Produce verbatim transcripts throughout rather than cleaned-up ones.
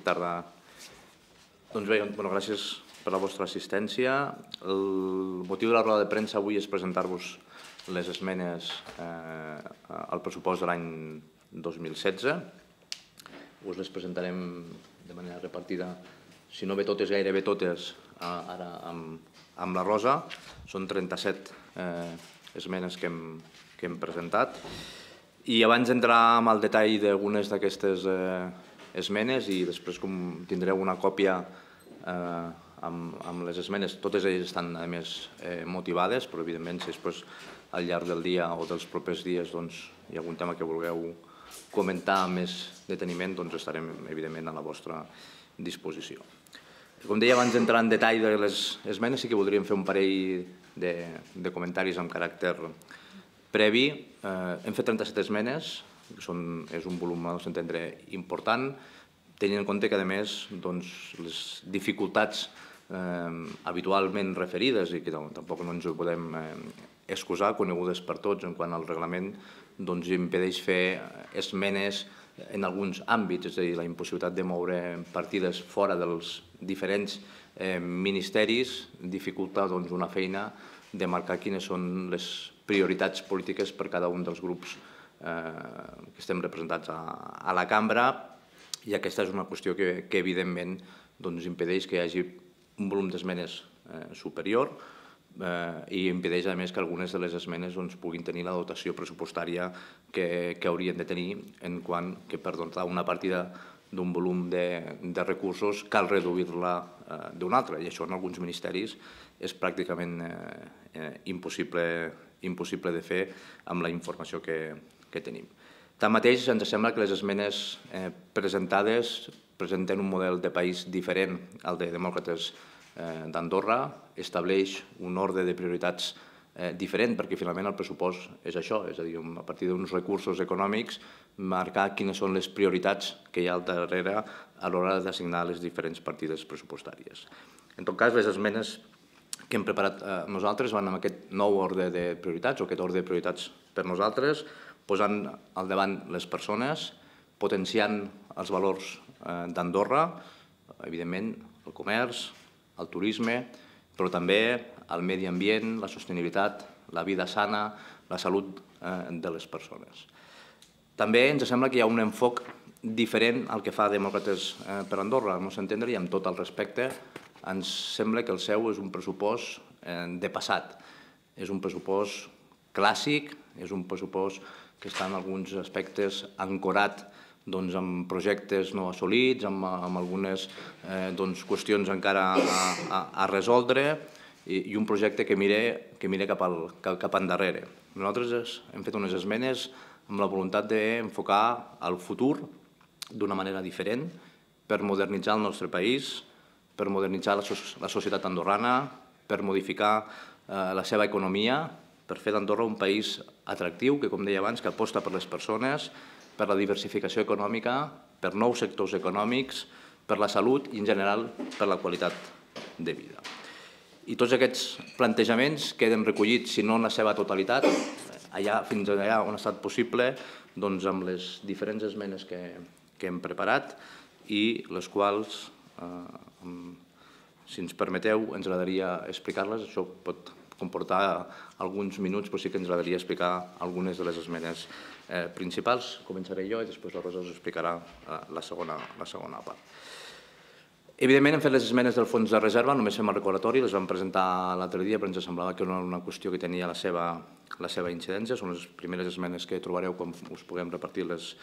tarda. Doncs bé, gràcies per la vostra assistència. El motiu de la roda de premsa avui és presentar-vos les esmenes al pressupost de l'any dos mil setze. Us les presentarem de manera repartida, si no bé totes, gairebé totes, ara amb la Rosa. Són trenta-set esmenes que hem presentat. I abans d'entrar en el detall d'algunes d'aquestes esmenes, i després tindreu una còpia amb les esmenes, totes elles estan a més motivades, però evidentment si després al llarg del dia o dels propers dies hi ha algun tema que vulgueu comentar amb més deteniment, doncs estarem evidentment a la vostra disposició. Com deia, abans d'entrar en detall de les esmenes, sí que voldríem fer un parell de comentaris amb caràcter previ. Hem fet trenta-set esmenes, és un volum, al nostre entendre, important, tenint en compte que, a més, les dificultats habitualment referides, i que tampoc no ens ho podem excusar, conegudes per tots, en quant al reglament, doncs impedeix fer esmenes en alguns àmbits, és a dir, la impossibilitat de moure partides fora dels diferents ministeris dificulta una feina de marcar quines són les prioritats polítiques per cada un dels grups que estem representats a la cambra, i aquesta és una qüestió que, evidentment, impedeix que hi hagi un volum d'esmenes superior i impedeix, a més, que algunes de les esmenes puguin tenir la dotació pressupostària que haurien de tenir, en quant que per dotar una partida d'un volum de recursos cal reduir-la d'un altre, i això en alguns ministeris és pràcticament impossible de fer amb la informació que tenim. Tanmateix, ens sembla que les esmenes presentades presenten un model de país diferent al de Demòcrates d'Andorra, estableix un ordre de prioritats diferent, perquè finalment el pressupost és això, és a dir, a partir d'uns recursos econòmics, marcar quines són les prioritats que hi ha al darrere a l'hora d'assignar les diferents partides pressupostàries. En tot cas, les esmenes que hem preparat nosaltres van amb aquest nou ordre de prioritats, o aquest ordre de prioritats per nosaltres, posant al davant les persones, potenciant els valors d'Andorra, evidentment el comerç, el turisme, però també el medi ambient, la sostenibilitat, la vida sana, la salut de les persones. També ens sembla que hi ha un enfoc diferent al que fa Demòcrates per Andorra, al nostre entendre, i amb tot el respecte, ens sembla que el seu és un pressupost de passat. És un pressupost clàssic, és un pressupost que està en alguns aspectes ancorat amb projectes no assolits, amb algunes qüestions encara a resoldre, i un projecte que mira cap endarrere. Nosaltres hem fet unes esmenes amb la voluntat d'enfocar el futur d'una manera diferent per modernitzar el nostre país, per modernitzar la societat andorrana, per modificar la seva economia, per fer d'Andorra un país atractiu, que, com deia abans, que aposta per les persones, per la diversificació econòmica, per nous sectors econòmics, per la salut i, en general, per la qualitat de vida. I tots aquests plantejaments queden recollits, si no en la seva totalitat, fins allà on ha estat possible, amb les diferents esmenes que hem preparat i les quals, si ens permeteu, ens agradaria explicar-les. Això pot comportar alguns minuts, però sí que ens agradaria explicar algunes de les esmenes principals. Començaré jo i després la Rosa us explicarà la segona part. Evidentment, hem fet les esmenes del fons de reserva, només fem el recordatori, les vam presentar l'altre dia, però ens semblava que era una qüestió que tenia la seva incidència. Són les primeres esmenes que trobareu quan us puguem repartir les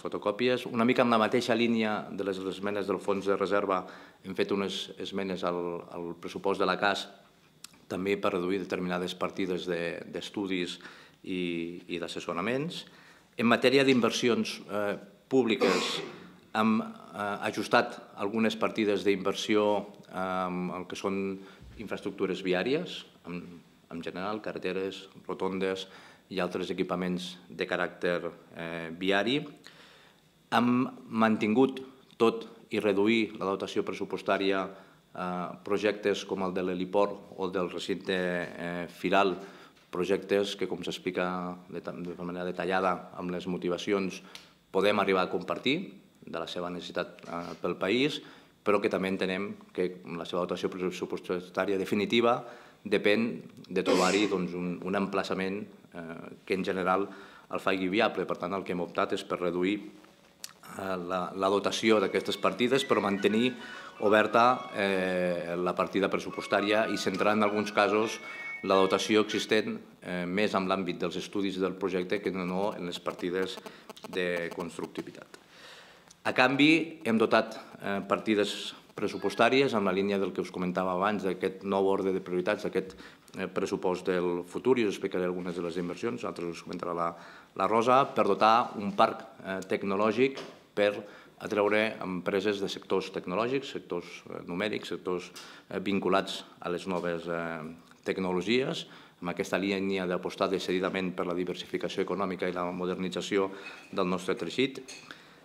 fotocòpies. Una mica en la mateixa línia de les esmenes del fons de reserva, hem fet unes esmenes al pressupost de la C A S, també per reduir determinades partides d'estudis i d'assessoraments. En matèria d'inversions públiques, hem ajustat algunes partides d'inversió en el que són infraestructures viàries, en general, carreteres, rotondes i altres equipaments de caràcter viari. Hem mantingut tot i reduir la dotació pressupostària a projectes com el de l'heliport o el del recinte firal, projectes que, com s'explica de manera detallada amb les motivacions, podem arribar a compartir, de la seva necessitat pel país, però que també entenem que la seva dotació pressupostària definitiva depèn de trobar-hi un emplaçament que en general el faci viable. Per tant, el que hem optat és per reduir la dotació d'aquestes partides, però mantenir oberta la partida pressupostària i centrar en alguns casos la dotació existent més en l'àmbit dels estudis del projecte que no en les partides de constructivitat. A canvi, hem dotat partides pressupostàries en la línia del que us comentava abans, d'aquest nou ordre de prioritats, d'aquest pressupost del futur, i us explicaré algunes de les inversions, altres us comentarà la Rosa, per dotar un parc tecnològic per atreure empreses de sectors tecnològics, sectors numèrics, sectors vinculats a les noves tecnologies, amb aquesta línia d'apostar decididament per la diversificació econòmica i la modernització del nostre teixit.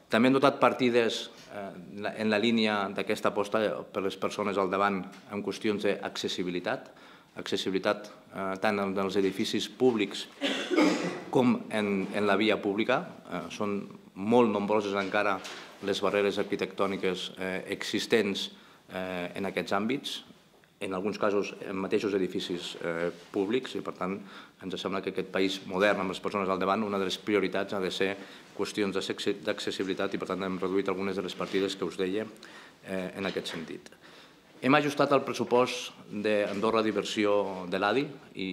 També hem dotat partides en la línia d'aquesta aposta per les persones al davant en qüestions d'accessibilitat, accessibilitat tant en els edificis públics com en la via pública. Són molt nombroses encara les barreres arquitectòniques existents en aquests àmbits, en alguns casos en mateixos edificis públics, i per tant ens sembla que aquest país modern amb les persones al davant, una de les prioritats ha de ser qüestions d'accessibilitat, i per tant hem reduït algunes de les partides que us deia en aquest sentit. Hem ajustat el pressupost d'Andorra d'inversió de l'A D I i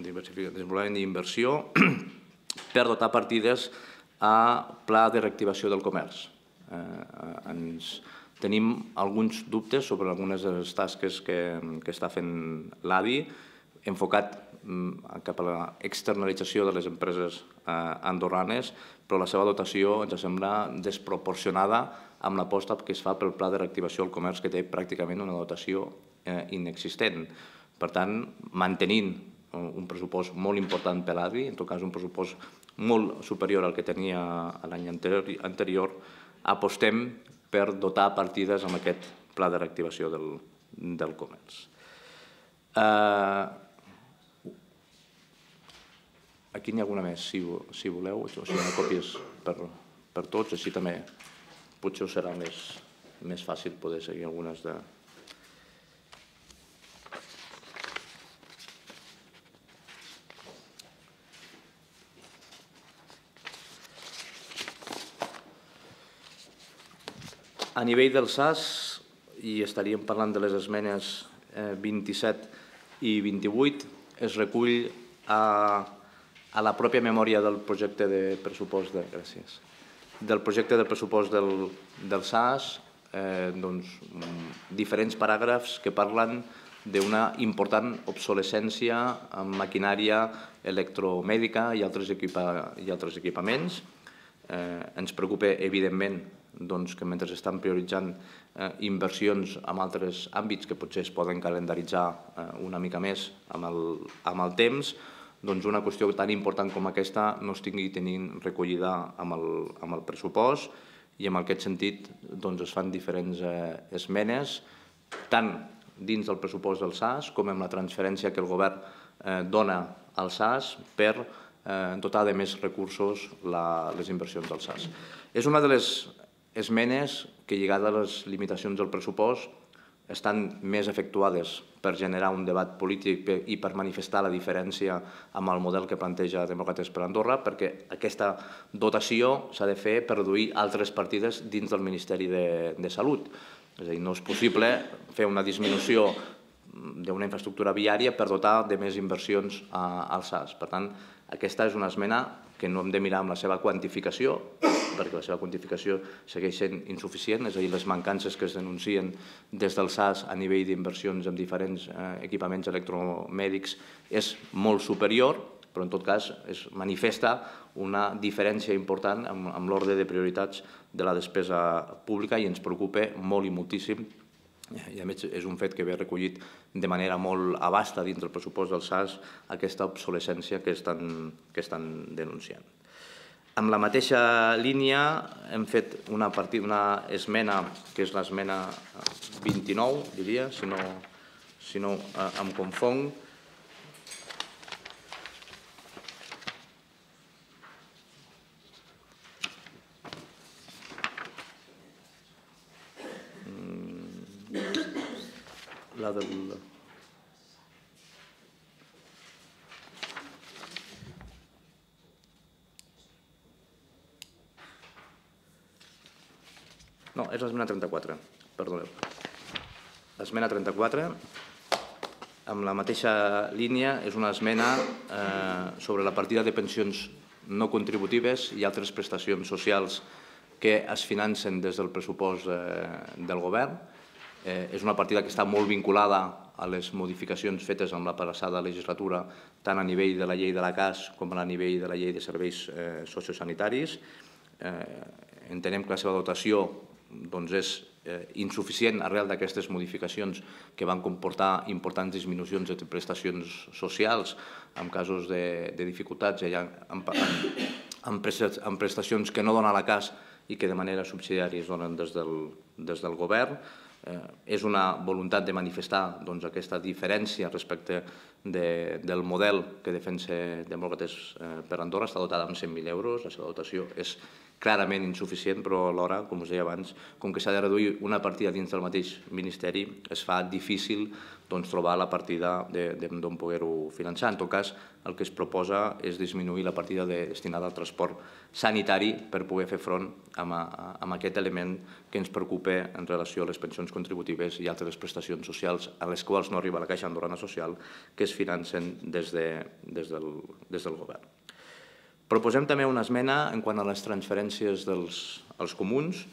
desenvolupament d'inversió per dotar partides a Pla de Reactivació del Comerç. Tenim alguns dubtes sobre algunes de les tasques que està fent l'A D I, enfocat cap a l'externalització de les empreses andorranes, però la seva dotació ens sembla desproporcionada amb l'aposta que es fa pel Pla de Reactivació del Comerç, que té pràcticament una dotació inexistent. Per tant, mantenint un pressupost molt important per l'A D I, en tot cas un pressupost molt superior al que tenia l'any anterior, apostem per dotar partides amb aquest Pla de Reactivació del Comerç. Aquí n'hi ha alguna més, si voleu, o si no còpies per tots, així també potser us serà més fàcil poder seguir algunes de... A nivell del S A S, i estaríem parlant de les esmenes vint-i-set i vint-i-vuit, es recull a la pròpia memòria del projecte de pressupost de... Gràcies. Del projecte de pressupost del S A S, diferents paràgrafs que parlen d'una important obsolescència en maquinària electromèdica i altres equipaments. Ens preocupa, evidentment, que mentre s'estan prioritzant inversions en altres àmbits que potser es poden calendaritzar una mica més amb el temps, una qüestió tan important com aquesta no es tingui tenint recollida amb el pressupost, i en aquest sentit es fan diferents esmenes, tant dins del pressupost del S A S com en la transferència que el govern dona al S A S per dotar de més recursos les inversions del S A S. És una de les esmenes que, lligada a les limitacions del pressupost, estan més efectuades per generar un debat polític i per manifestar la diferència amb el model que planteja Demòcrates per Andorra, perquè aquesta dotació s'ha de fer per reduir altres partides dins del Ministeri de Salut. És a dir, no és possible fer una disminució d'una infraestructura viària per dotar de més inversions al S A S. Per tant, aquesta és una esmena que no hem de mirar amb la seva quantificació, perquè la seva quantificació segueix sent insuficient, és a dir, les mancances que es denuncien des del S A S a nivell d'inversions en diferents equipaments electromèdics és molt superior, però en tot cas es manifesta una diferència important amb l'ordre de prioritats de la despesa pública i ens preocupa molt i moltíssim, i a més és un fet que ve recollit de manera molt abasta dins del pressupost del S A S, aquesta obsolescència que estan denunciant. Amb la mateixa línia hem fet una esmena, que és l'esmena vint-i-nou, diria, si no em confonc, La del... No, és l'esmena trenta-quatre, perdoneu. L'esmena trenta-quatre, amb la mateixa línia, és una esmena sobre la partida de pensions no contributives i altres prestacions socials que es financen des del pressupost del govern. És una partida que està molt vinculada a les modificacions fetes en la passada legislatura, tant a nivell de la llei de la C A S com a nivell de la llei de serveis sociosanitaris. Entenem que la seva dotació és insuficient arrel d'aquestes modificacions que van comportar importants disminucions de prestacions socials en casos de dificultats en prestacions que no dona la C A S i que de manera subsidiària es donen des del govern. És una voluntat de manifestar aquesta diferència respecte del model que defensa Demòcrates per Andorra. Està dotada amb cent mil euros, la seva dotació és clarament insuficient, però alhora, com us deia abans, com que s'ha de reduir una partida dins del mateix Ministeri, es fa difícil trobar la partida d'on poder-ho finançar. En tot cas, el que es proposa és disminuir la partida destinada al transport sanitari per poder fer front a aquest element que ens preocupa en relació a les pensions contributives i altres prestacions socials a les quals no arriba la Caixa Andorrana Social, que es financen des del govern. Proposem també una esmena en quant a les transferències dels comuns.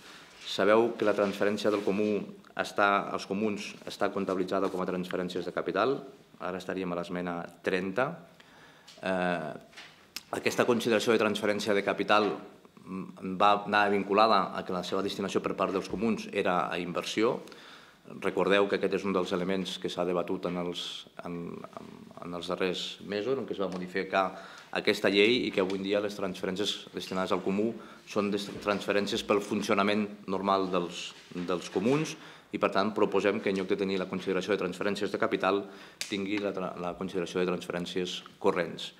Sabeu que la transferència del comú als comuns està comptabilitzada com a transferències de capital. Ara estaríem a l'esmena trenta. Aquesta consideració de transferència de capital va anar vinculada a que la seva destinació per part dels comuns era a inversió. Recordeu que aquest és un dels elements que s'ha debatut en els darrers mesos, en què es va modificar aquesta llei i que avui en dia les transferències destinades al comú són transferències pel funcionament normal dels comuns i, per tant, proposem que en lloc de tenir la consideració de transferències de capital tingui la consideració de transferències corrents.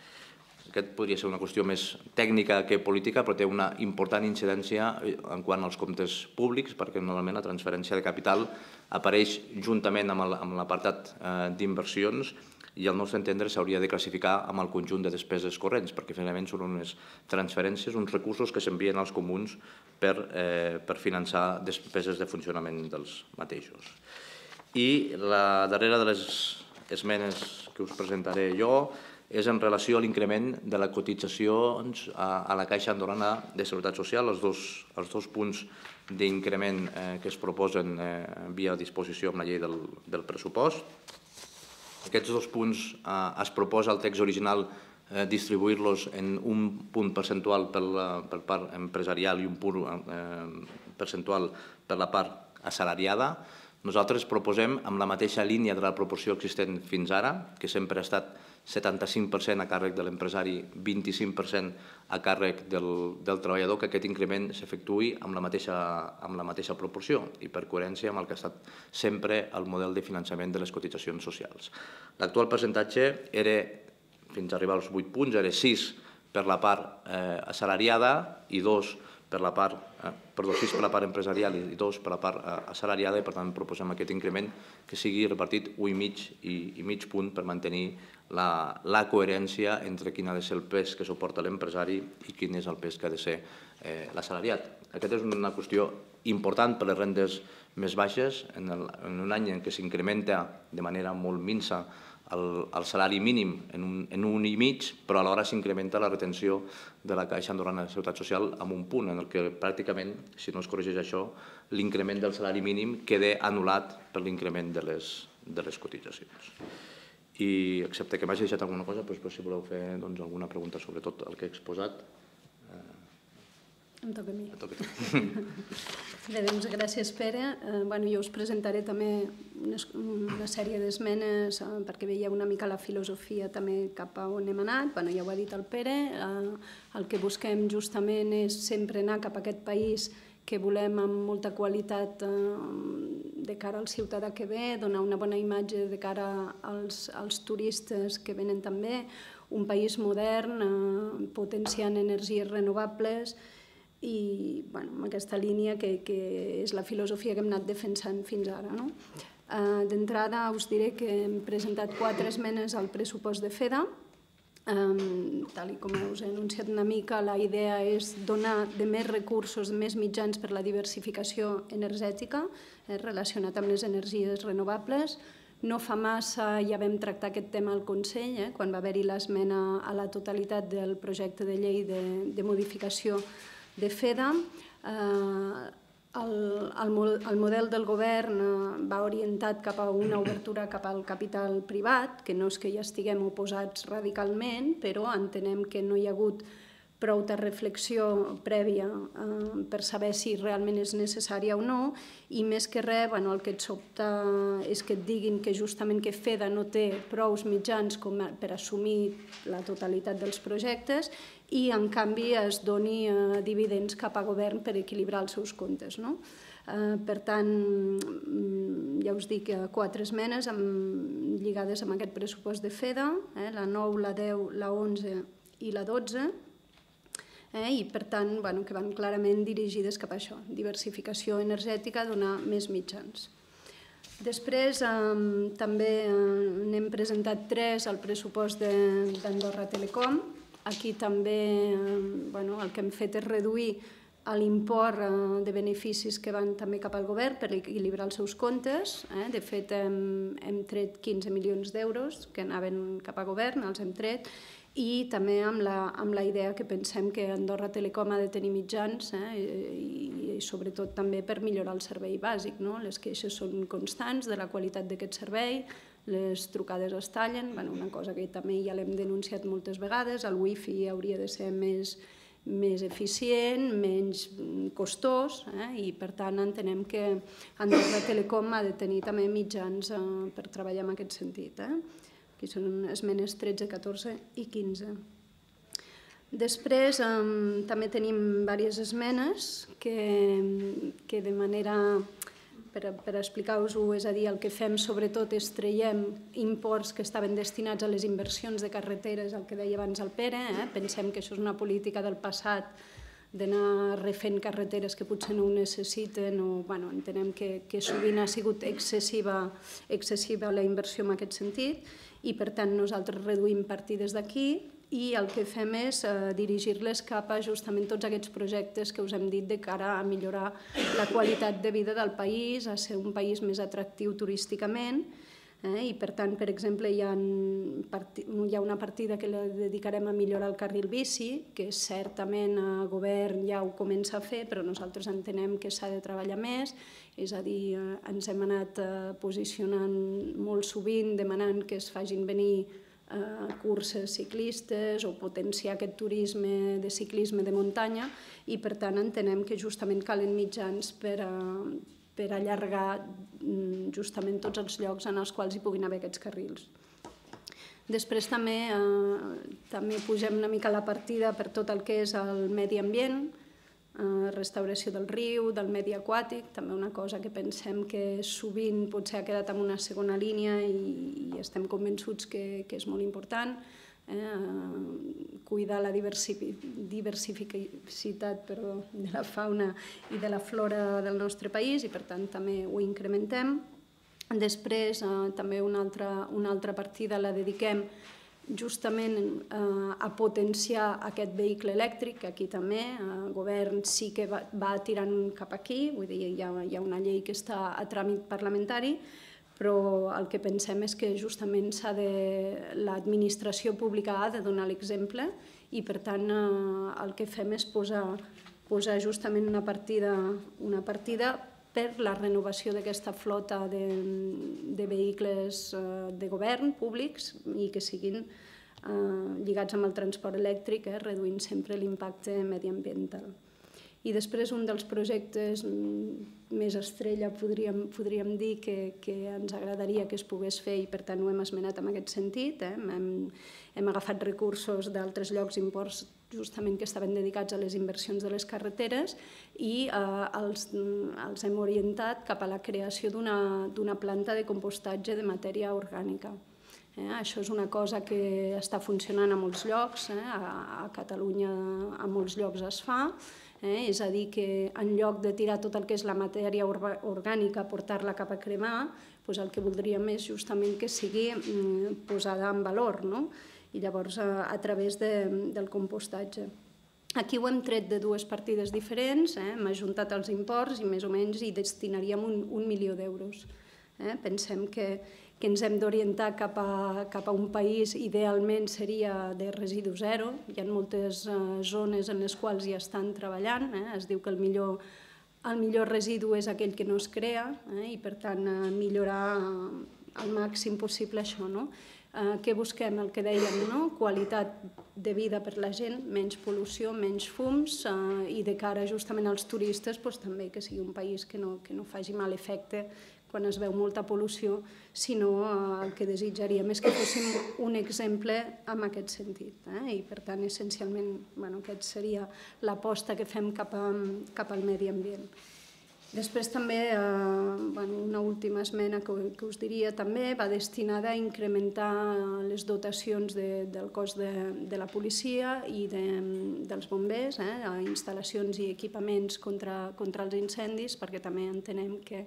Aquest podria ser una qüestió més tècnica que política, però té una important incidència en quant als comptes públics, perquè normalment la transferència de capital apareix juntament amb l'apartat d'inversions i al nostre entendre s'hauria de classificar amb el conjunt de despeses corrents, perquè finalment són unes transferències, uns recursos que s'envien als comuns per finançar despeses de funcionament dels mateixos. I la darrera de les esmenes que us presentaré jo és en relació a l'increment de la cotització a la Caixa Andorrana de Seguretat Social, els dos punts d'increment que es proposen via disposició amb la llei del pressupost. Aquests dos punts es proposa al text original distribuir-los en un punt percentual per la part empresarial i un punt percentual per la part assalariada. Nosaltres proposem, amb la mateixa línia de la proporció existent fins ara, que sempre ha estat setanta-cinc per cent a càrrec de l'empresari, vint-i-cinc per cent a càrrec del treballador, que aquest increment s'efectuï amb la mateixa proporció i per coherència amb el que ha estat sempre el model de finançament de les cotitzacions socials. L'actual percentatge era, fins a arribar als vuit punts, era sis per la part assalariada i dos per la part, perdó, sis per la part empresarial i dos per la part assalariada i per tant proposem aquest increment que sigui repartit un i mig i mig punt per mantenir la coherència entre quin ha de ser el pes que suporta l'empresari i quin és el pes que ha de ser l'assalariat. Aquesta és una qüestió important per les rendes més baixes en un any en què s'incrementa de manera molt minsa el salari mínim en un i mig, però alhora s'incrementa la retenció de la Caixa Andorrana de Seguretat Social amb un punt en què pràcticament, si no es corregeix això, l'increment del salari mínim queda anul·lat per l'increment de les cotitzacions. I, excepte que m'hagi deixat alguna cosa, si voleu fer alguna pregunta sobre tot el que he exposat. Em toca a mi. Bé, doncs gràcies, Pere. Jo us presentaré també una sèrie d'esmenes perquè veieu una mica la filosofia també cap a on hem anat. Ja ho ha dit el Pere. El que busquem justament és sempre anar cap a aquest país que volem amb molta qualitat de cara al ciutadà que ve, donar una bona imatge de cara als turistes que venen també, un país modern, potenciant energies renovables i amb aquesta línia que és la filosofia que hem anat defensant fins ara. D'entrada us diré que hem presentat quatre esmenes al pressupost de FEDA. Tal com us he anunciat una mica, la idea és donar de més recursos, de més mitjans per la diversificació energètica relacionat amb les energies renovables. No fa massa ja vam tractar aquest tema al Consell, quan va haver-hi l'esmena a la totalitat del projecte de llei de modificació de FEDA. El model del govern va orientat cap a una obertura cap al capital privat, que no és que hi estiguem oposats radicalment, però entenem que no hi ha hagut prou de reflexió prèvia per saber si realment és necessària o no, i més que res el que et sobta és que et diguin que justament que FEDA no té prous mitjans per assumir la totalitat dels projectes i en canvi es doni dividends cap a govern per equilibrar els seus comptes. Per tant, ja us dic, quatre esmenes lligades amb aquest pressupost de FEDA, la nou, la deu, la onze i la dotze, i per tant que van clarament dirigides cap a això, diversificació energètica, donar més mitjans. Després també n'hem presentat tres al pressupost d'Andorra Telecom. Aquí també el que hem fet és reduir l'import de beneficis que van també cap al govern per equilibrar els seus comptes. De fet, hem tret quinze milions d'euros que anaven cap a govern, els hem tret, i també amb la idea que pensem que Andorra Telecom ha de tenir mitjans i sobretot també per millorar el servei bàsic. Les queixes són constants de la qualitat d'aquest servei, les trucades es tallen, una cosa que també ja l'hem denunciat moltes vegades, el wifi hauria de ser més eficient, menys costós, i per tant entenem que Andorra Telecom ha de tenir també mitjans per treballar en aquest sentit. Aquí són esmenes tretze, catorze i quinze. Després també tenim diverses esmenes que de manera, per explicar-vos-ho, és a dir, el que fem sobretot és traiem imports que estaven destinats a les inversions de carreteres, el que deia abans el Pere, pensem que això és una política del passat d'anar refent carreteres que potser no ho necessiten o entenem que sovint ha sigut excessiva la inversió en aquest sentit i per tant nosaltres reduïm partides d'aquí i el que fem és dirigir-les cap a justament tots aquests projectes que us hem dit de cara a millorar la qualitat de vida del país, a ser un país més atractiu turísticament i per tant, per exemple, hi ha una partida que la dedicarem a millorar el carril bici, que certament el govern ja ho comença a fer, però nosaltres entenem que s'ha de treballar més, és a dir, ens hem anat posicionant molt sovint demanant que es facin venir curses ciclistes o potenciar aquest turisme de ciclisme de muntanya i per tant entenem que justament calen mitjans per a per allargar justament tots els llocs en els quals hi puguin haver aquests carrils. Després també pugem una mica la partida per tot el que és el medi ambient, restauració del riu, del medi aquàtic, també una cosa que pensem que sovint potser ha quedat en una segona línia i estem convençuts que és molt important. Cuidar la diversificitat de la fauna i de la flora del nostre país i per tant també ho incrementem. Després també una altra partida la dediquem justament a potenciar aquest vehicle elèctric, que aquí també el govern sí que va tirant cap aquí, vull dir, hi ha una llei que està a tràmit parlamentari, però el que pensem és que justament l'administració pública ha de donar l'exemple i per tant el que fem és posar justament una partida per la renovació d'aquesta flota de vehicles de govern públics i que siguin lligats amb el transport elèctric, reduint sempre l'impacte mediambiental. I després un dels projectes més estrella, podríem dir, que ens agradaria que es pogués fer i per tant ho hem esmenat en aquest sentit. Hem agafat recursos d'altres llocs, imports justament que estaven dedicats a les inversions de les carreteres i els hem orientat cap a la creació d'una planta de compostatge de matèria orgànica. Això és una cosa que està funcionant a molts llocs, a Catalunya a molts llocs es fa, És a dir, que en lloc de tirar tot el que és la matèria orgànica, portar-la cap a cremar, el que voldríem és justament que sigui posada en valor, i llavors a través del compostatge. Aquí ho hem tret de dues partides diferents, hem ajuntat els imports i més o menys hi destinaríem un milió d'euros. Pensem que ens hem d'orientar cap a un país, idealment seria de residu zero, hi ha moltes zones en les quals ja estan treballant, es diu que el millor el millor residu és aquell que no es crea i per tant millorar al màxim possible això. Què busquem? El que dèiem, qualitat de vida per la gent, menys pol·lució, menys fums i de cara justament als turistes també que sigui un país que no faci mal efecte quan es veu molta pol·lució, sinó el que desitjaríem és que fóssim un exemple en aquest sentit. I per tant, essencialment, aquesta seria l'aposta que fem cap al medi ambient. Després també, una última esmena que us diria també, va destinada a incrementar les dotacions del cos de la policia i dels bombers, a instal·lacions i equipaments contra els incendis, perquè també entenem que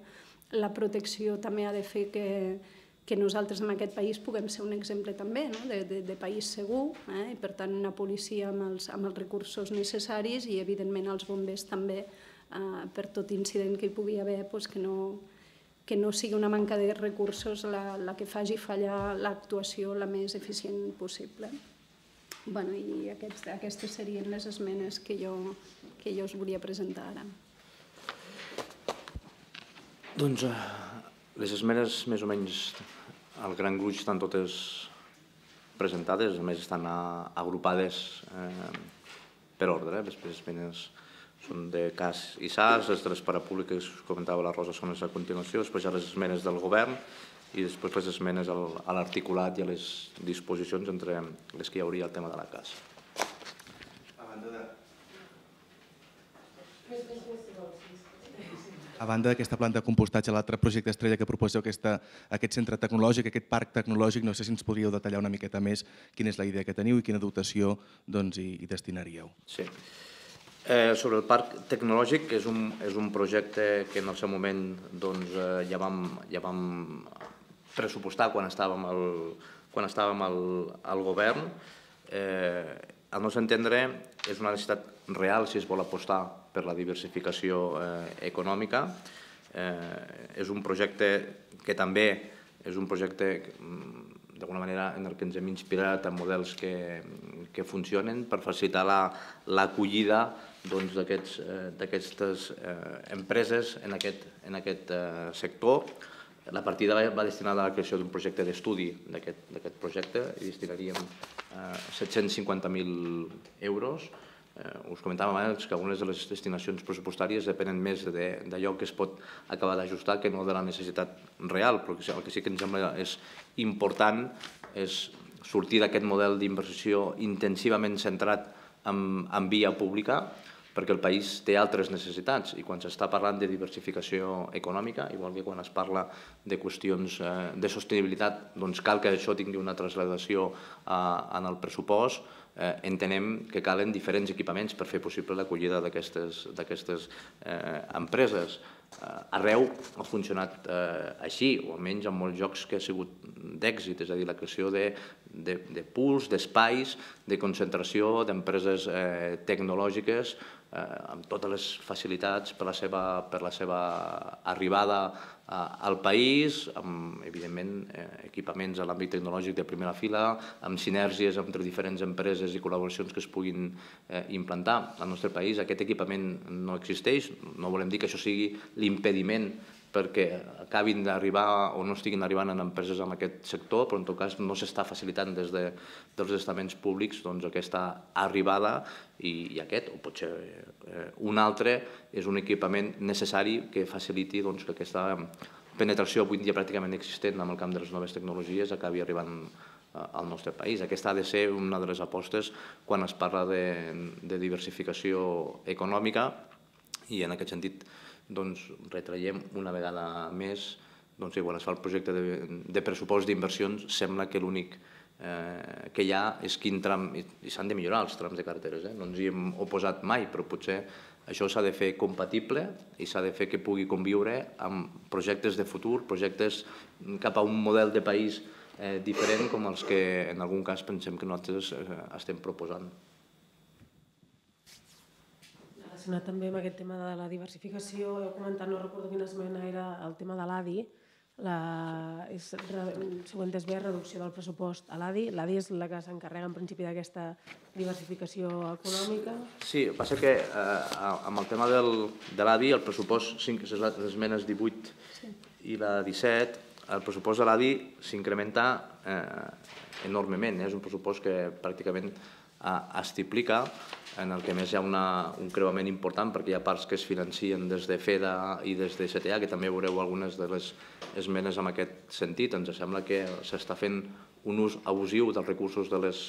la protecció també ha de fer que nosaltres en aquest país puguem ser un exemple també de país segur i per tant una policia amb els recursos necessaris i evidentment els bombers també per tot incident que hi pugui haver que no sigui una manca de recursos la que faci fallar l'actuació la més eficient possible. I aquestes serien les esmenes que jo us volia presentar ara. Doncs les esmenes més o menys al gran gruix estan totes presentades, a més estan agrupades per ordre. Les esmenes són de C A S i S A S, les de les parapúbliques que us comentava la Rosa són les a continuació, després hi ha les esmenes del govern i després les esmenes a l'articulat i a les disposicions entre les que hi hauria el tema de la C A S. A banda d'aquesta planta de compostatge, l'altre projecte estrella que proposeu, aquest centre tecnològic, aquest parc tecnològic, no sé si ens podríeu detallar una miqueta més quina és la idea que teniu i quina dotació hi destinaríeu. Sí. Sobre el parc tecnològic, és un projecte que en el seu moment ja vam pressupostar quan estàvem al govern. Al nostre entendre, és una necessitat real si es vol apostar per la diversificació econòmica. És un projecte que també és un projecte d'alguna manera en el que ens hem inspirat en models que funcionen per facilitar l'acollida d'aquestes empreses en aquest sector. La partida va destinada a la creació d'un projecte d'estudi d'aquest projecte i destinaríem set-cents cinquanta mil euros. Us comentàvem abans que algunes de les destinacions pressupostàries depenen més d'allò que es pot acabar d'ajustar que no de la necessitat real, però el que sí que ens sembla és important és sortir d'aquest model d'inversió intensivament centrat en via pública, perquè el país té altres necessitats i quan s'està parlant de diversificació econòmica, igual que quan es parla de qüestions de sostenibilitat, doncs cal que això tingui una trasladació en el pressupost. Entenem que calen diferents equipaments per fer possible l'acollida d'aquestes empreses. Arreu ha funcionat així, o almenys en molts llocs que ha sigut d'èxit, és a dir, la creació de pools, d'espais, de concentració d'empreses tecnològiques amb totes les facilitats per la seva arribada al país, amb, evidentment, equipaments a l'àmbit tecnològic de primera fila, amb sinergies entre diferents empreses i col·laboracions que es puguin implantar. Al nostre país aquest equipament no existeix, no volem dir que això sigui l'impediment perquè acabin d'arribar o no estiguin arribant en empreses en aquest sector, però en tot cas no s'està facilitant des dels estaments públics aquesta arribada i aquest, o potser un altre, és un equipament necessari que faciliti que aquesta penetració avui dia pràcticament existent en el camp de les noves tecnologies acabi arribant al nostre país. Aquesta ha de ser una de les apostes quan es parla de diversificació econòmica i en aquest sentit retraiem una vegada més que quan es fa el projecte de pressupost d'inversions sembla que l'únic que hi ha és quin tram, i s'han de millorar els trams de carreteres, no ens hi hem oposat mai, però potser Això s'ha de fer compatible i s'ha de fer que pugui conviure amb projectes de futur, projectes cap a un model de país diferent com els que en algun cas pensem que nosaltres estem proposant. Relacionat també amb aquest tema de la diversificació, heu comentat, no recordo quina esmena era el tema de l'A D I, següent és bé, reducció del pressupost a l'A D I. L'A D I és la que s'encarrega en principi d'aquesta diversificació econòmica. Sí, el que passa que amb el tema de l'A D I, el pressupost, les esmenes divuit i la disset, el pressupost de l'A D I s'incrementa enormement. És un pressupost que pràcticament es triplica, en el que més hi ha un creuament important perquè hi ha parts que es financien des de FEDA i des de C T A, que també veureu algunes de les esmenes en aquest sentit. Ens sembla que s'està fent un ús abusiu dels recursos de les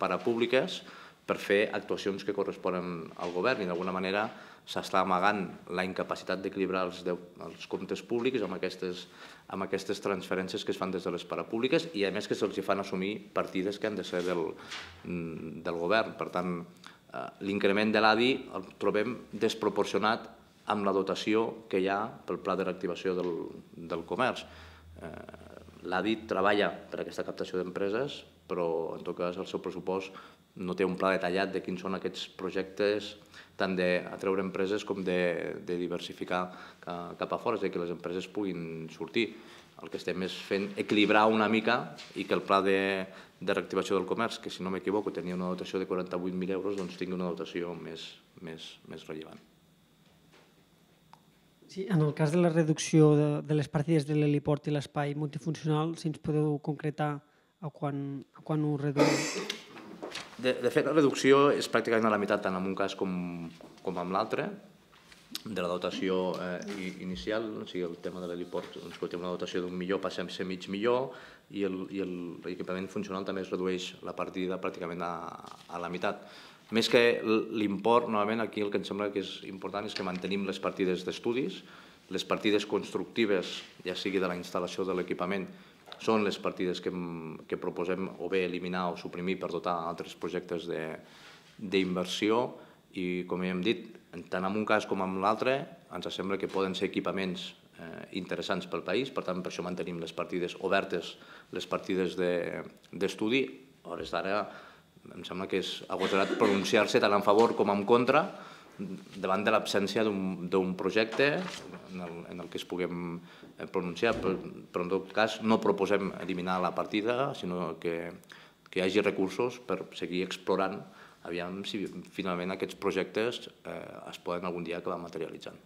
parapúbliques per fer actuacions que corresponen al govern i d'alguna manera s'està amagant la incapacitat d'equilibrar els comptes públics amb aquestes transferències que es fan des de les parapúbliques i a més que se'ls fan assumir partides que han de ser del govern. Per tant, l'increment de l'A D I el trobem desproporcionat amb la dotació que hi ha pel Pla de Reactivació del Comerç. L'A D I treballa per aquesta captació d'empreses, però en tot cas el seu pressupost no té un pla detallat de quins són aquests projectes tant d'atreure empreses com de diversificar cap a fora, és a dir, que les empreses puguin sortir. El que estem és fent equilibrar una mica i que el pla de reactivació del comerç, que si no m'equivoco tenia una dotació de quaranta-vuit mil euros, doncs tingui una dotació més rellevant. Sí, en el cas de la reducció de les partides de l'heliport i l'espai multifuncional, si ens podeu concretar a quan ho reduïu? De fet, la reducció és pràcticament a la meitat tant en un cas com en l'altre, de la dotació inicial, o sigui, el tema de l'heliport, que té una dotació d'un milió passem a ser mig milió i l'equipament funcional també es redueix la partida pràcticament a la meitat. Més que l'import, novament, aquí el que em sembla que és important és que mantenim les partides d'estudis, les partides constructives, ja sigui de la instal·lació de l'equipament, són les partides que proposem o bé eliminar o suprimir per dotar altres projectes d'inversió i, com ja hem dit, tant en un cas com en l'altre, ens sembla que poden ser equipaments interessants pel país, per tant, per això mantenim les partides obertes, les partides d'estudi. A hores d'ara, em sembla que és agosarat pronunciar-se tant en favor com en contra davant de l'absència d'un projecte en el que es puguem pronunciar, però en tot cas no proposem eliminar la partida, sinó que hi hagi recursos per seguir explorant aviam si finalment aquests projectes es poden algun dia acabar materialitzant.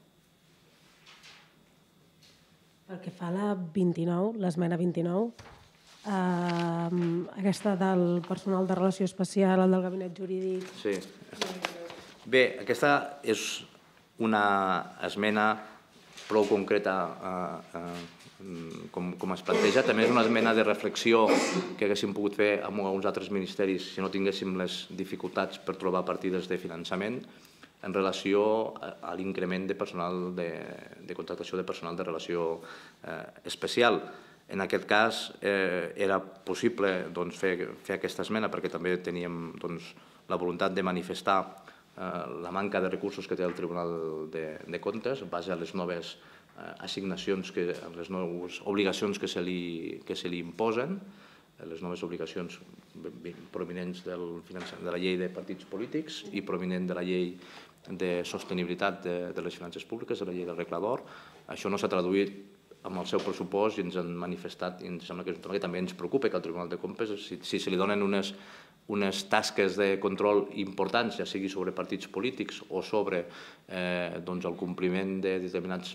Pel que fa a la vint-i-nou, l'esmena vint-i-nou, aquesta del personal de relació especial, el del gabinet jurídic... Sí. Bé, aquesta és una esmena prou concreta com es planteja. També és una esmena de reflexió que haguéssim pogut fer amb alguns altres ministeris si no tinguéssim les dificultats per trobar partides de finançament en relació a l'increment de personal de contractació de personal de relació especial. En aquest cas era possible fer aquesta esmena perquè també teníem la voluntat de manifestar la manca de recursos que té el Tribunal de Comptes en base a les noves assignacions, les noves obligacions que se li imposen, les noves obligacions provinents de la llei de partits polítics i provinent de la llei de sostenibilitat de les finances públiques, de la llei del reglador. Això no s'ha traduït amb el seu pressupost i ens han manifestat, i ens sembla que és un tema que també ens preocupa, que el Tribunal de Comptes, si se li donen unes unes tasques de control importants, ja sigui sobre partits polítics o sobre el compliment de determinats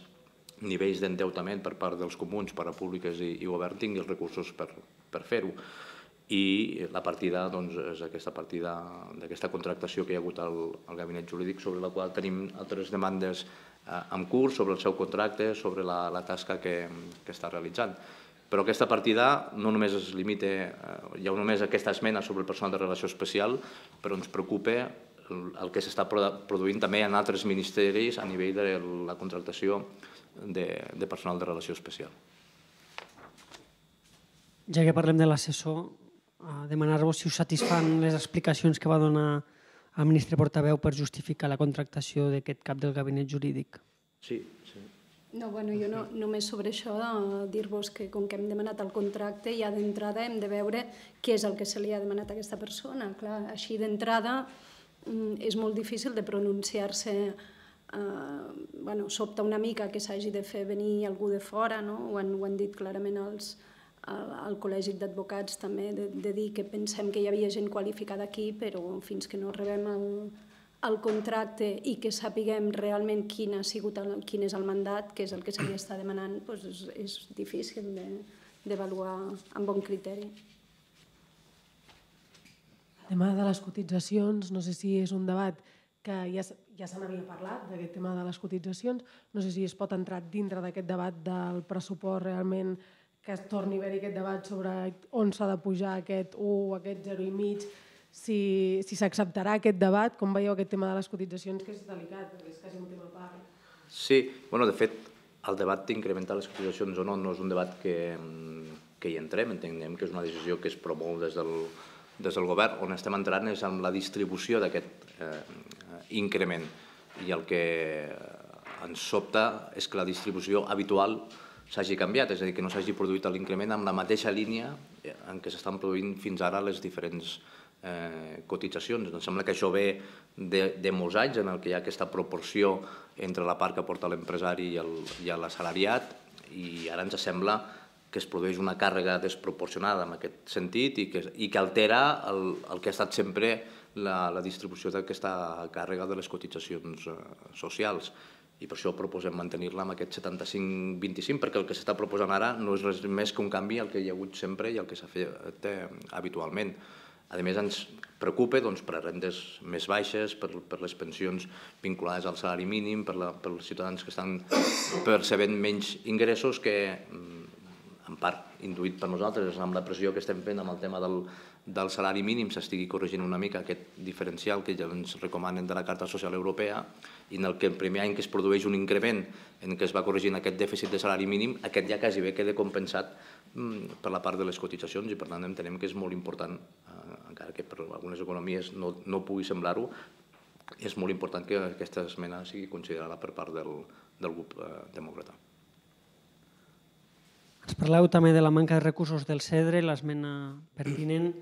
nivells d'endeutament per part dels comuns, parapúbliques i govern, tingui els recursos per fer-ho. I la partida és aquesta partida d'aquesta contractació que hi ha hagut al gabinet jurídic, sobre la qual tenim altres demandes en curs, sobre el seu contracte, sobre la tasca que està realitzant. Però aquesta partida no només es limita, hi ha només aquesta esmena sobre el personal de relació especial, però ens preocupa el que s'està produint també en altres ministeris a nivell de la contractació de personal de relació especial. Ja que parlem de l'assessor, demanar-vos si us satisfan les explicacions que va donar al ministre portaveu per justificar la contractació d'aquest cap del gabinet jurídic. Sí, sí. No, bueno, jo no, només sobre això dir-vos que com que hem demanat el contracte ja d'entrada hem de veure què és el que se li ha demanat a aquesta persona. Clar, així d'entrada és molt difícil de pronunciar-se. Eh, bueno, sobta una mica que s'hagi de fer venir algú de fora, no? Ho han, ho han dit clarament els, el, el Col·legi d'Advocats també, de, de dir que pensem que hi havia gent qualificada aquí, però fins que no rebem el, el contracte i que sapiguem realment quin, ha sigut el, quin és el mandat, que és el que se li està demanant, doncs és, és difícil d'avaluar amb bon criteri. El tema de les cotitzacions, no sé si és un debat que ja, ja se n'havia parlat, d'aquest tema de les cotitzacions, no sé si es pot entrar dintre d'aquest debat del pressupost realment, que es torni a haver-hi aquest debat sobre on s'ha de pujar aquest u o aquest zero i mig, si s'acceptarà aquest debat, com veieu aquest tema de les cotitzacions, que és delicat, perquè és quasi un tema a part. Sí, bueno, de fet, el debat d'incrementar les cotitzacions o no no és un debat que, que hi entrem, entenem que és una decisió que es promou des del, des del govern. On estem entrant és amb la distribució d'aquest eh, increment, i el que ens sobta és que la distribució habitual s'hagi canviat, és a dir, que no s'hagi produït l'increment amb la mateixa línia en què s'estan produint fins ara les diferents eh, cotitzacions. Em sembla que això ve de, de molts anys en el que hi ha aquesta proporció entre la part que aporta l'empresari i, el, i l'assalariat, i ara ens sembla que es produeix una càrrega desproporcionada en aquest sentit i que, i que altera el, el que ha estat sempre la, la distribució d'aquesta càrrega de les cotitzacions eh, socials. I per això proposem mantenir-la amb aquest setanta-cinc vint-i-cinc, perquè el que s'està proposant ara no és res més que un canvi al que hi ha hagut sempre i al que s'ha fet eh, habitualment. A més, ens preocupa doncs, per a rendes més baixes, per, per les pensions vinculades al salari mínim, per, la, per els ciutadans que estan percebent menys ingressos, que en part induït per nosaltres amb la pressió que estem fent amb el tema del, del salari mínim s'estigui corregint una mica aquest diferencial que ja ens recomanen de la Carta Social Europea, i en el que el primer any que es produeix un increment en què es va corregint aquest dèficit de salari mínim, aquest ja quasi bé queda compensat mm, per la part de les cotitzacions, i per tant entenem que és molt important, eh, encara que per algunes economies no, no pugui semblar-ho, és molt important que aquesta esmena sigui considerada per part del, del grup eh, demòcrata. Ens parleu també de la manca de recursos del CEDRE, l'esmena pertinent.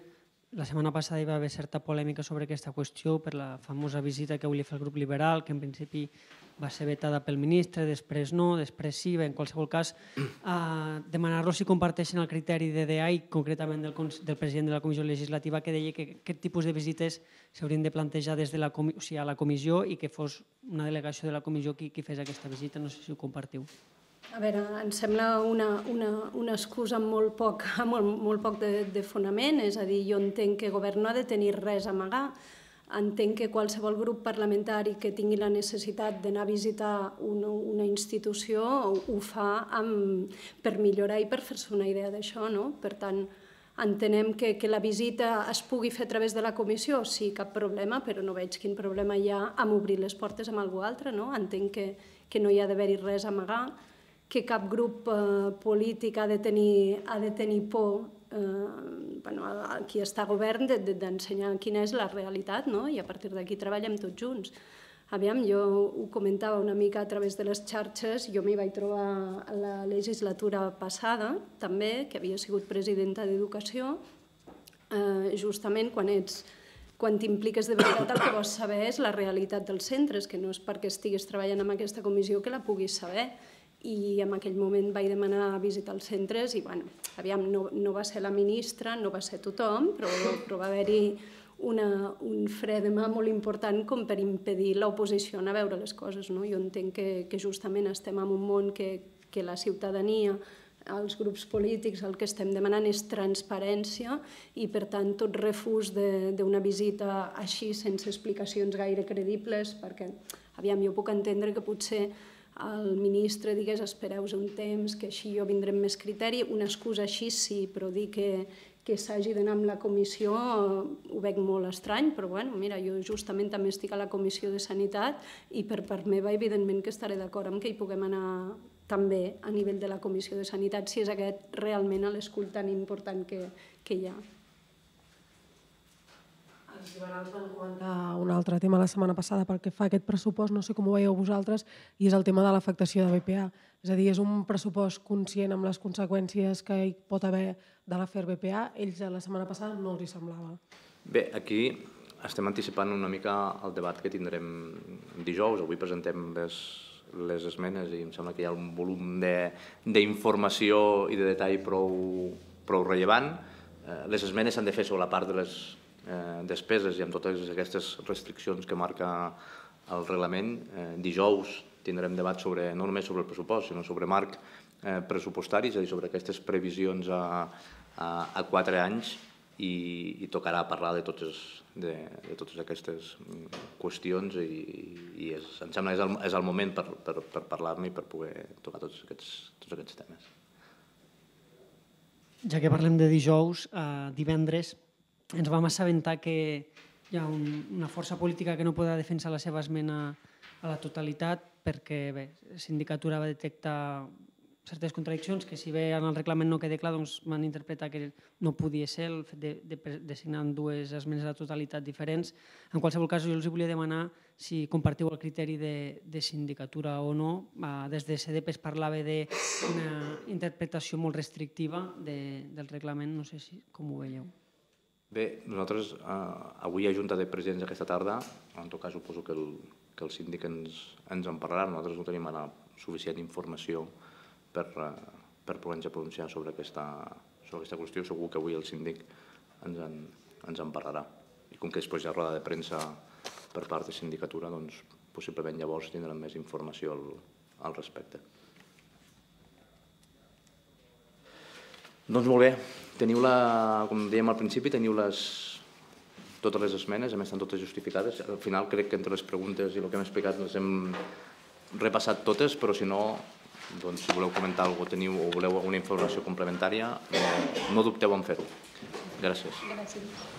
La setmana passada hi va haver certa polèmica sobre aquesta qüestió per la famosa visita que volia fer el grup liberal, que en principi va ser vetada pel ministre, després no, després sí. En qualsevol cas, eh, demanar-los si comparteixen el criteri de D A I, concretament del, del president de la Comissió Legislativa, que deia que aquest tipus de visites s'haurien de plantejar des de la, o sigui, a la comissió i que fos una delegació de la comissió qui, qui fes aquesta visita. No sé si ho compartiu. A veure, em sembla una, una, una excusa amb molt poc, amb molt, molt poc de, de fonament, és a dir, jo entenc que el govern no ha de tenir res a amagar, entenc que qualsevol grup parlamentari que tingui la necessitat d'anar a visitar una, una institució ho fa amb, per millorar i per fer-se una idea d'això, no? Per tant, entenem que, que la visita es pugui fer a través de la comissió, sí, cap problema, però no veig quin problema hi ha amb obrir les portes amb algú altre, no? Entenc que, que no hi ha d'haver-hi res a amagar, que cap grup eh, polític ha de tenir, ha de tenir por, eh, bueno, a qui està a govern, d'ensenyar de, de, quina és la realitat, no? I a partir d'aquí treballem tots junts. Aviam, jo ho comentava una mica a través de les xarxes, jo m'hi vaig trobar a la legislatura passada, també, que havia sigut presidenta d'Educació, eh, justament quan ets quan t'impliques de veritat el que vols saber és la realitat dels centres, que no és perquè estiguis treballant en aquesta comissió que la puguis saber. I en aquell moment vaig demanar visitar els centres i, bueno, aviam, no, no va ser la ministra, no va ser tothom, però, però va haver-hi un fre de mà molt important com per impedir l'oposició a veure les coses, no? Jo entenc que, que justament estem en un món que, que la ciutadania, els grups polítics, el que estem demanant és transparència i, per tant, tot refús d'una visita així, sense explicacions gaire credibles, perquè, aviam, jo puc entendre que potser el ministre digués espereu un temps, que així jo vindré amb més criteri, una excusa així sí, però dir que, que s'hagi d'anar amb la comissió ho veig molt estrany, però bueno, mira, jo justament també estic a la comissió de Sanitat i per part meva evidentment que estaré d'acord amb que hi puguem anar també a nivell de la comissió de Sanitat si és aquest realment l'escull tan important que, que hi ha. Els Els liberals van comentar un altre tema la setmana passada pel que fa a aquest pressupost, no sé com ho veieu vosaltres, i és el tema de l'afectació de B P A. És a dir, és un pressupost conscient amb les conseqüències que hi pot haver de l'afer B P A. Ells la setmana passada no els hi semblava. Bé, aquí estem anticipant una mica el debat que tindrem dijous. Avui presentem les, les esmenes i em sembla que hi ha un volum d'informació i de detall prou, prou rellevant. Les esmenes s'han de fer sobre la part de les eh, despeses i amb totes aquestes restriccions que marca el reglament. Eh, dijous tindrem debat sobre, no només sobre el pressupost, sinó sobre marc eh, pressupostari, és a dir, sobre aquestes previsions a, a, a quatre anys i, i tocarà parlar de totes, de, de totes aquestes qüestions i, i és, em sembla que és el, és el moment per, per, per parlar-ne i per poder tocar tots aquests, tots aquests temes. Ja que parlem de dijous, eh, divendres ens vam assabentar que hi ha un, una força política que no podrà defensar la seva esmena a la totalitat perquè bé, la sindicatura va detectar certes contradiccions que si bé en el reglament no queda clar, doncs van interpretar que no podia ser el fet de, de, de signar dues esmenes a la totalitat diferents. En qualsevol cas, jo els volia demanar si compartiu el criteri de, de sindicatura o no. Des de C D P es parlava d'una interpretació molt restrictiva de, del reglament, no sé si com ho veieu. Bé, nosaltres eh, avui hi ha junta de presidents aquesta tarda, en tot cas suposo que el, que el síndic ens, ens en parlarà, nosaltres no tenim ara suficient informació per, eh, per poder-nos pronunciar sobre aquesta, sobre aquesta qüestió. Segur que avui el síndic ens en, ens en parlarà. I com que després hi ha roda de premsa per part de sindicatura, doncs possiblement llavors tindrem més informació al, al respecte. Doncs molt bé, teniu la, com dèiem al principi, teniu les, totes les esmenes, a més estan totes justificades. Al final crec que entre les preguntes i el que hem explicat les hem repassat totes, però si no, doncs, si voleu comentar alguna cosa teniu o voleu alguna informació complementària, no, no dubteu en fer-ho. Gràcies. Gràcies.